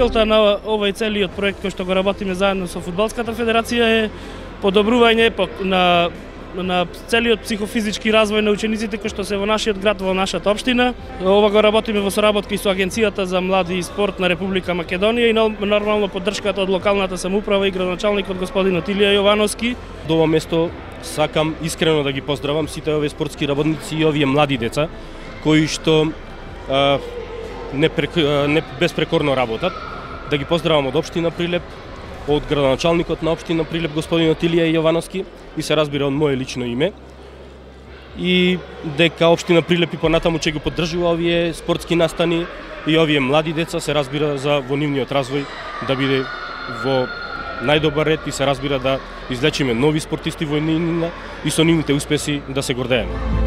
Целта на овој целиот проект кој што го работиме заедно со Фудбалската федерација е подобрување на целиот психофизички развој на учениците кои што се во нашиот град, во нашата општина. Ова го работиме во соработка и со Агенцијата за млади и спорт на Република Македонија и нормално поддршката од локалната самоуправа и градоначалникот господин Отилија Јовановски. До ова место сакам искрено да ги поздравам сите овие спортски работници и овие млади деца кои што не безпрекорно работат. Да ги поздравам од општина Прилеп, од градоначалникот на општина Прилеп господин Отилија Јовановски и се разбира од мое лично име. И дека општина Прилеп и понатаму ќе го поддржува овие спортски настани и овие млади деца, се разбира за во нивниот развој да биде во најдобар ред и се разбира да излечиме нови спортисти во нивнина и со нивните успеси да се гордееме.